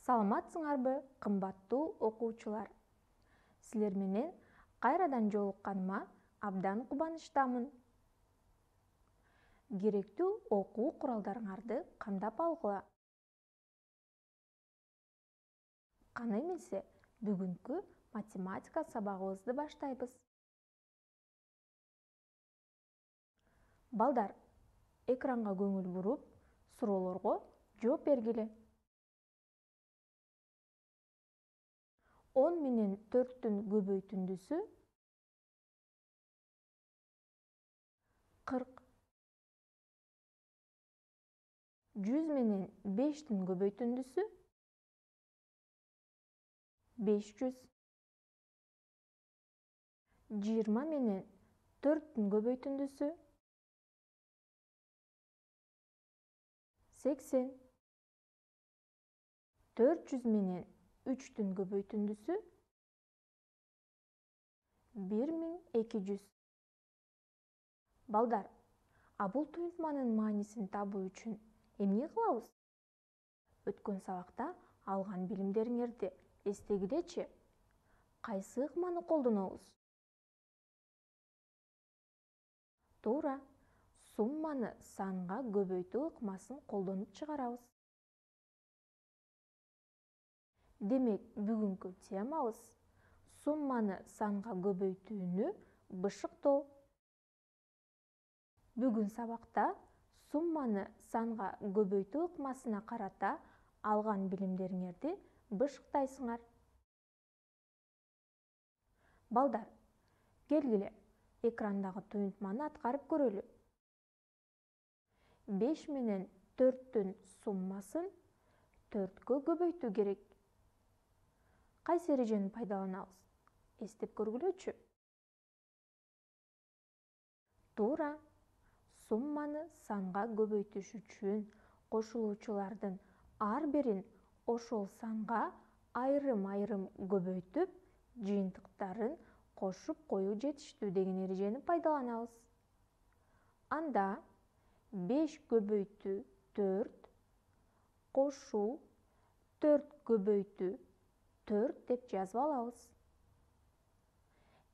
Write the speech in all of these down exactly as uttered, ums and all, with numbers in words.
Саламатсыңарбы, кымбаттуу окуучулар? Силер менен кайрадан жолукканыма абдан кубанычтамын. Керектүү окуу куралдарыңарды камдап алгыла. Кана эмесе, бүгүнкү математика сабагыбызды баштайбыз. Балдар, экранга көңүл буруп, суроолорго жооп бергиле. он менен төрттүн көбөйтүндүсү кырк. жүз менен бештин көбөйтүндүсү беш жүз. жыйырма менен төрттүн көбөйтүндүсү сексен. төрт жүз менен үчтүн көбөйтүндүсү бир миң эки жүз. Балдар, а бул туюнтманын маанисин табуу үчүн эмне кылабыз? Өткөн сабакта алган билимдериңерди эстегилечи. Кайсы ыкманы колдонобуз? Туура, сумманы санга көбөйтүү ыкмасын колдонуп чыгарабыз. Демек, бүгүнкү темабыз сумманы санга көбөйтүүнү бышыктоо. Бүгүн сабакта сумманы санга көбөйтүү ыкмасына карата алган билимдериңерди бышыктайсыңар. Балдар, келгиле, экрандагы туюнтманы аткарып көрөлү. беш менен төрттүн суммасын төрткө көбөйтүү керек. Кайсы эрежени пайдаланабыз? Эстеп көргүлөчү. Туура, сумманы санга көбөйтүш үчүн кошулуучулардын ар бирин ошол санга айрым-айрым көбөйтүп, жыйынтыктарын кошуп коюу жетиштүү деген эрежени пайдаланабыз. Анда беш көбөйтүү төрт кошуу төрт көбөйтүү төрт деп жазып алабыз.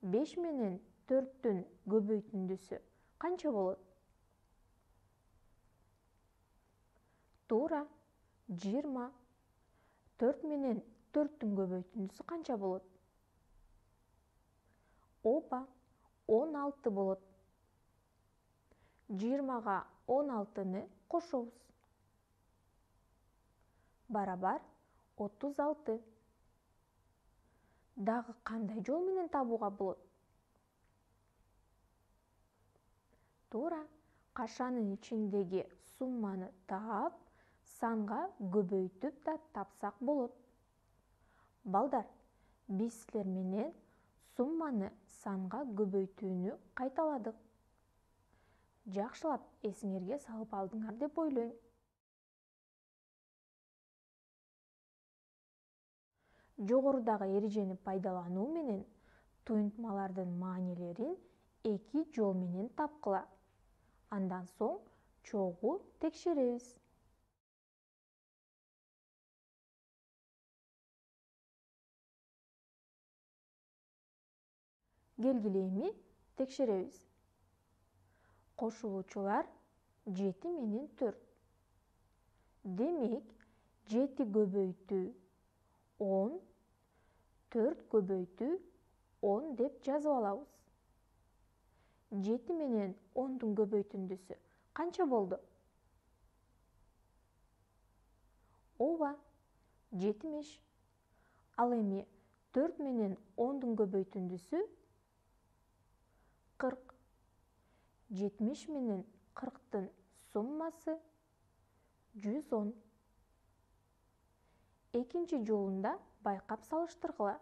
беш менен төрттүн көбөйтүндүсү канча болот? Туура, жыйырма. төрт менен төрттүн көбөйтүндүсү канча болот? Ооба, он алты болот. жыйырмага он алтыны кошобуз. Барабар отуз алты. Дагы кандай жол менен табууга болот? Туура, кашанын ичиндеги сумманы таап, санга көбөйтүп да тапсак болот. Балдар, биз силер менен сумманы санга көбөйтүүнү кайталадык. Жакшылап эсиңерге салып алдыңар деп ойлойм. Жогорудагы эрежени пайдалануу менен туюнтмалардын маанилерин эки жол менен тапкыла. Андан соң чогуу текшеребиз. Келгиле эми текшеребиз. Кошулуучулар жети менен төрт. Демек, жети көбөйтүү он, төрт көбөйтүү он деп жазып алабыз. жети менен ондун көбөйтүндүсү канча болду? Ооба, жетимиш. Ал эми төрт менен ондун көбөйтүндүсү кырк. жетимиш менен кырктын суммасы жүз он. Экинчи жолун да байкап салыштыргыла.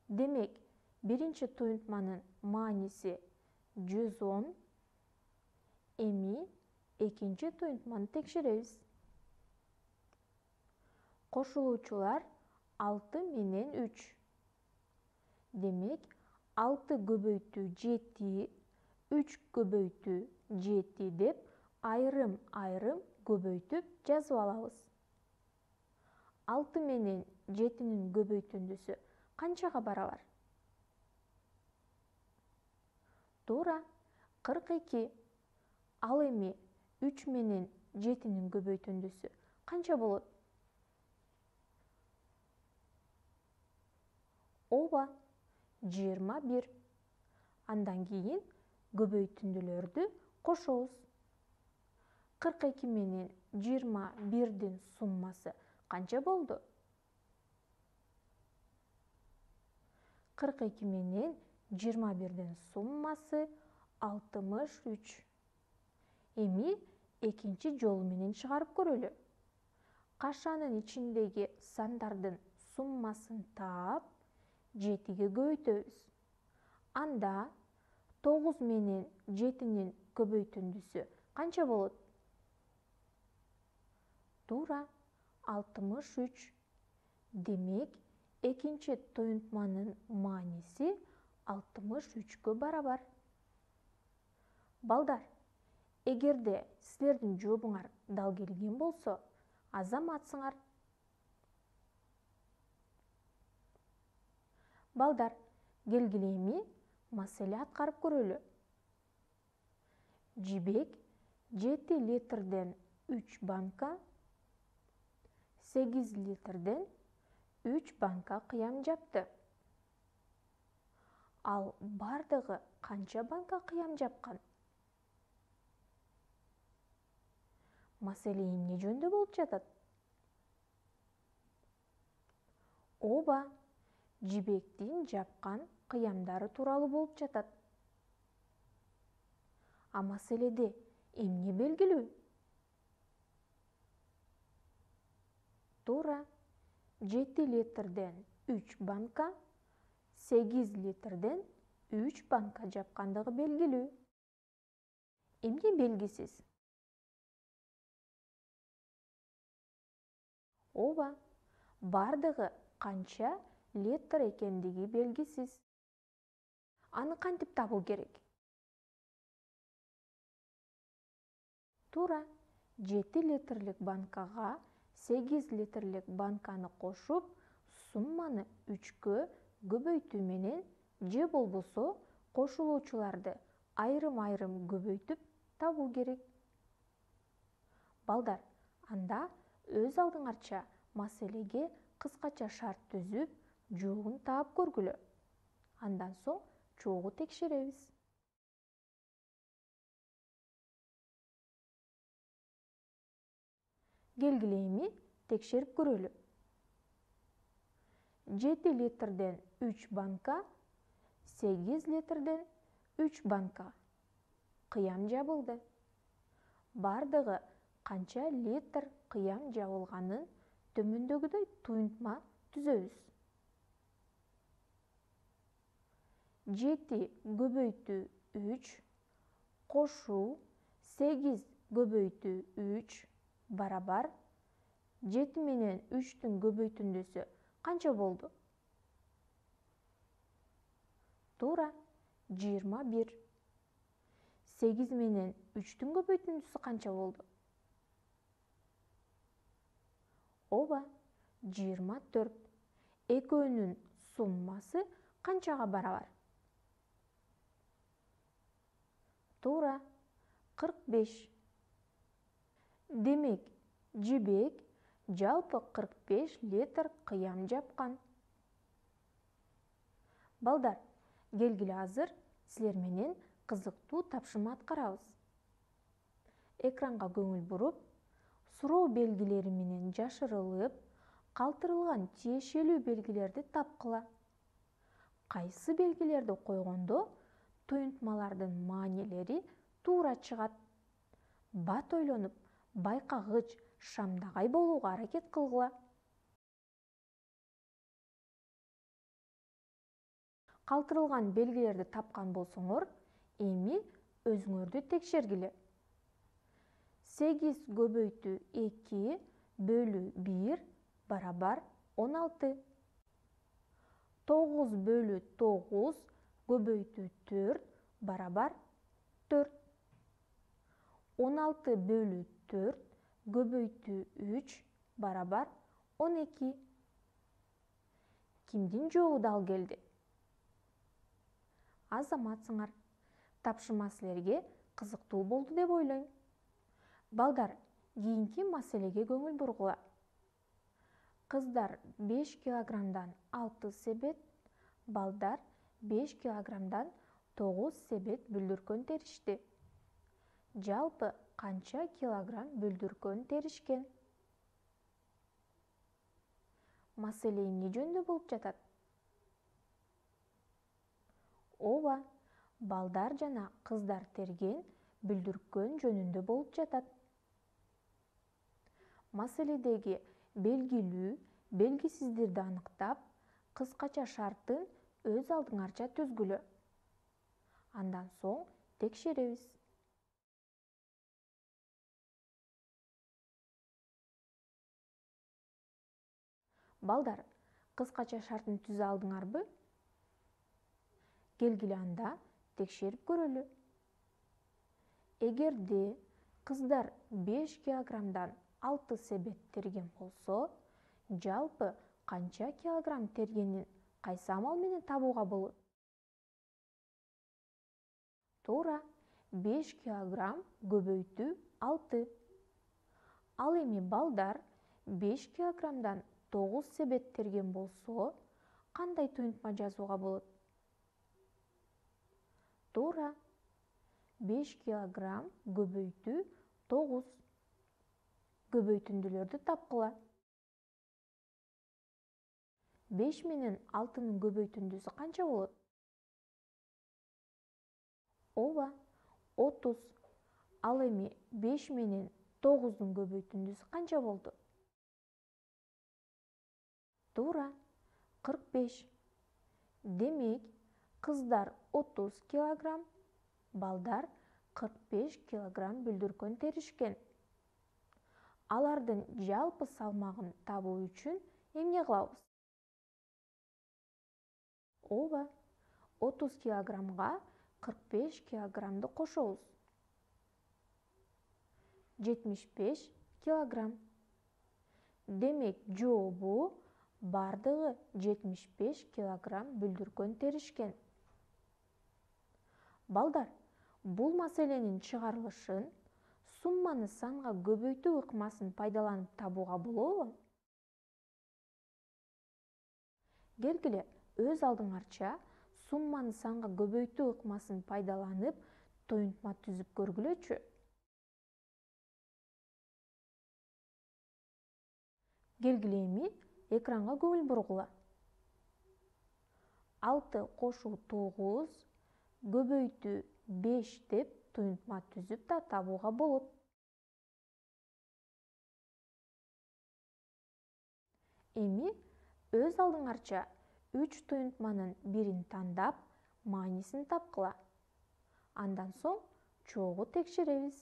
Демек, биринчи туюнтманын мааниси жүз он. Эми экинчи туюнтманы текшеребиз. Кошулуучулар алты менен үч. Демек, алты көбөйтүү жети, үч көбөйтүү жети деп айрым-айрым көбөйтүп жазып алабыз. алты менен жетинин көбөйтүндүсү канчага барабар? Туура, кырк эки. Ал эми үч менен жетинин көбөйтүндүсү канча болот? Ооба, жыйырма бир. Андан кийин көбөйтүндүлөрдү кошобуз. кырк эки менен жыйырма бирдин суммасы канча болду? кырк эки менен жыйырма бирдин суммасы алтымыш үч. Эми экинчи жолу менен чыгарып көрөлү. Кашанын ичиндеги сандардын суммасын таап, жетиге көбөйтөбүз. Анда тогуз менен жетинин көбөйтүндүсү канча болот? Туура, алтымыш үч. Демек, экинчи туюнтманын мааниси алтымыш үчкө барабар. Балдар, эгерде силердин жообуңар дал келген болсо, азаматсыңар. Балдар, келгиле эми маселе аткарып көрөлү. Жибек жети литрден үч банка, сегиз литрден үч банка кыям жапты. Ал бардыгы канча банка кыям жапкан? Маселе эмне жөнүндө болуп жатат? Ооба, жибектин жапкан кыямдары тууралуу болуп жатат. А маселеде эмне белгилүү? Туура, жети литрден үч банка, сегиз литрден үч банка жапкандыгы белгилүү. Эмне белгисиз? Ооба, бардыгы канча литр экендиги белгисиз. Аны кантип табуу керек? Туура, жети литрлик банкага сегиз литрлик банканы кошуп, сумманы үчкө көбөйтүү менен же болбосо кошулуучуларды айрым-айрым көбөйтүп табуу керек. Балдар, анда өз алдыңарча маселеге кыскача шарт түзүп, жообун таап көргүлө. Андан соң чогуу текшеребиз. Келгиле эми текшерип көрөлү. жети литрден үч банка, сегиз литрден үч банка кыям жабылды. Бардыгы канча литр кыям жабылганын төмөндөгүдөй туюнтма түзөбүз. жети көбөйтүү үч кошуу сегиз көбөйтүү үч барабар жети менен үчтүн көбөйтүндүсү канча болду? Туура, жыйырма бир. сегиз менен үчтүн көбөйтүндүсү канча болду? Ооба, жыйырма төрт. Экөөнүн суммасы канчага барабар? Туура, кырк беш. Демек, жибек жалпы кырк беш литр кыям жапкан. Балдар, келгиле азыр силер менен кызыктуу тапшырма аткарабыз. Экранга көңүл буруп, суроо белгилери менен жашырылып, калтырылган тиешелүү белгилерди тапкыла. Кайсы белгилерди койгондо туюнтмалардын маанилери туура чыгат? Бат ойлонуп, байкагыч, шамдагай болууга аракет кылгыла. Калтырылган белгилерди тапкан болсоңор, эми өзүңөрдү текшергиле. сегиз көбөйтүү эки бөлүү бир барабар он алты. тогуз бөлүү тогуз көбөйтүү төрт барабар төрт. он алты бөлүү төрт көбөйтүү үч барабар он эки. Кимдин жообу дал келди? Азаматсыңар. Тапшырма силерге кызыктуу болду деп ойлойм. Балдар, кийинки маселеге көңүл бургула. Кыздар беш килограммдан алты себет, балдар беш килограммдан тогуз себет бүлдүркөн теришти. Жалпы канча килограмм бүлдүркөн теришкен? Маселе эмне жөнүндө болуп жатат? Ооба, балдар жана кыздар терген бүлдүркөн жөнүндө болуп жатат. Маселедеги белгилүү, белгисиздерди аныктап, кыскача шарттын өз алдыңарча түзгүлө. Андан соң текшеребиз. Балдар, кыскача шарттын түзө алдыңарбы? Келгиле анда текшерип көрөлү. Эгерде кыздар беш килограммдан алты себет терген болсо, жалпы канча килограмм тергенин кайсы амал менен табууга болот? Туура, беш килограмм көбөйтүү алты. Ал эми балдар беш килограммдан тогуз себет терген болсо, кандай туюнтма жазууга болот? Туура, беш килограмм көбөйтүү тогуз. Көбөйтүндүлөрдү тапкыла. беш менен алтынын көбөйтүндүсү канча болот? Ооба, отуз. Ал эми беш менен тогуздун көбөйтүндүсү канча болду? Туура, кырк беш. Демек, кыздар отуз килограмм, балдар кырк беш килограмм бүлдүркөн теришкен. Алардын жалпы салмагын табуу үчүн эмне кылабыз? Ооба, отуз килограммга кырк беш килограммды кошобуз. жетимиш беш килограмм. Демек, жообу бардыгы жетимиш беш килограмм бүлдүркөн теришкен. Балдар, бул маселенин чыгарылышын сумманы санга көбөйтүү ыкмасын пайдаланып табууга болобу? Келгиле, өз алдыңарча сумманы санга көбөйтүү ыкмасын пайдаланып туюнтма түзүп көргүлөчү. Келгиле эми экранга көңүл бургула. алты кошуу тогуз, көбөйтүү беш деп туюнтма түзүп да табууга болот. Эми өз алдыңарча үч туюнтманын бирин тандап, маанисин тапкыла. Андан соң чогуу текшеребиз.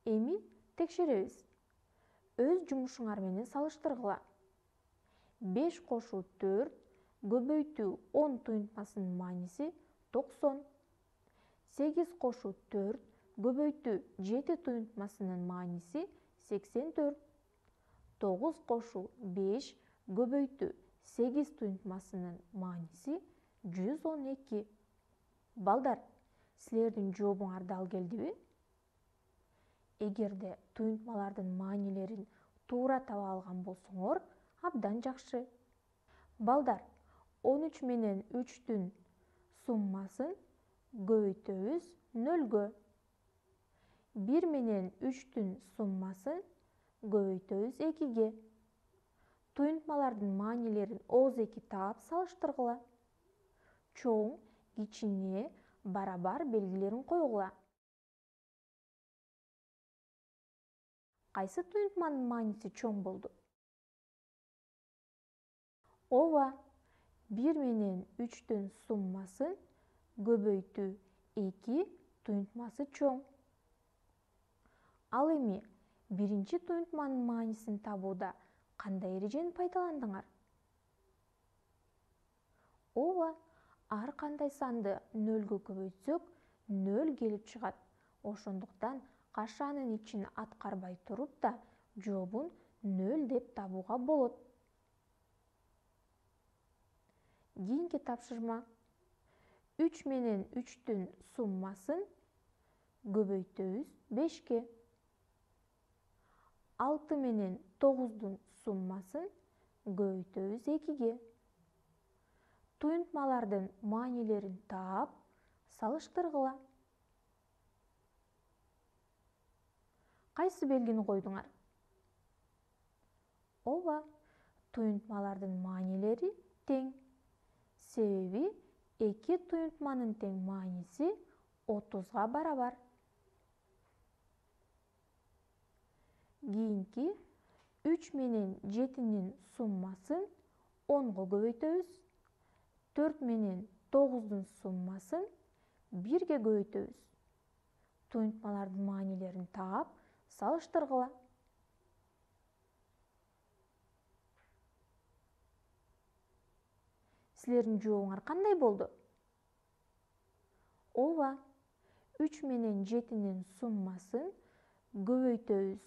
Эми текшеребиз. Өз жумушуңар менен салыштыргыла. беш кошуу төрт, көбөйтүү он туюнтмасынын мааниси токсон. сегиз кошуу төрт, көбөйтүү жети туюнтмасынын мааниси сексен төрт. тогуз кошуу беш, көбөйтүү сегиз туюнтмасынын мааниси жүз он эки. Балдар, силердин жообуңар дал келдиби? Эгерде туюнтмалардын маанилерин туура таба алган болсоңор, абдан жакшы. Балдар, он үч менен үчтүн суммасын көбөйтөбүз нөлгө. бир менен үчтүн суммасын көбөйтөбүз экиге. Туюнтмалардын маанилерин огуз эки таап салыштыргыла. Чоң, кичине, барабар белгилерин койгула. Кайсы туюнтманын мааниси чоң болду? Ооба, бир менен үчтүн суммасын көбөйтүү эки туюнтмасы чоң. Ал эми биринчи туюнтманын маанисин табууда кандай эрежени пайдаландыңар? Ооба, ар кандай санды нөлгө көбөйтсөк нөл келип чыгат. Ошондуктан кашанын ичин аткарбай туруп да жообун нөл деп табууга болот. Кийинки тапшырма. үч менен үчтүн суммасын көбөйтөбүз бешке. алты менен тогуздун суммасын көбөйтөбүз экиге. Туюнтмалардын маанилерин таап, салыштыргыла. Кайсы белгини койдуңар? Ооба, туюнтмалардын маанилери тең. Себеби эки туюнтманын тең мааниси отузга барабар. Кийинки үч менен жетинин суммасын онго көбөйтөбүз. төрт менен тогуздун суммасын бирге көбөйтөбүз. Туюнтмалардын маанилерин таап, салыштыргыла. Силердин жообуңар кандай болду? Ооба, үч менен жетинин суммасын көбөйтөбүз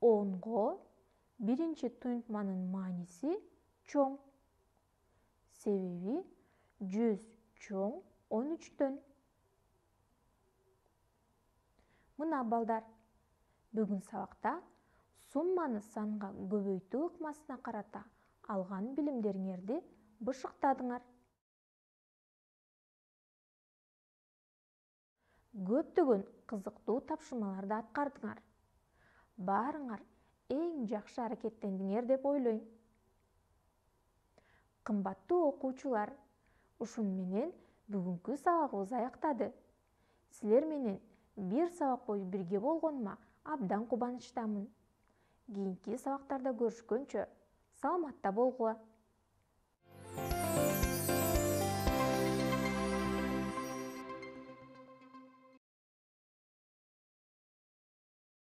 онго, биринчи туюнтманын мааниси чоң. Себеби жүз чоң он үчтөн. Мына балдар, бүгүн сабакта сумманы санга көбөйтүү ыкмасына карата алган билимдериңерди бышыктадыңар. Көптөгөн кызыктуу тапшырмаларды аткардыңар. Баарыңар эң жакшы аракеттендиңер деп ойлойм. Кымбаттуу окуучулар, ушун менен бүгүнкү сабагыбыз аяктады. Силер менен бир сабак бою бирге болгонума абдан кубанычтамын. Кийинки сабактарда көрүшкөнчө, саламатта болгула.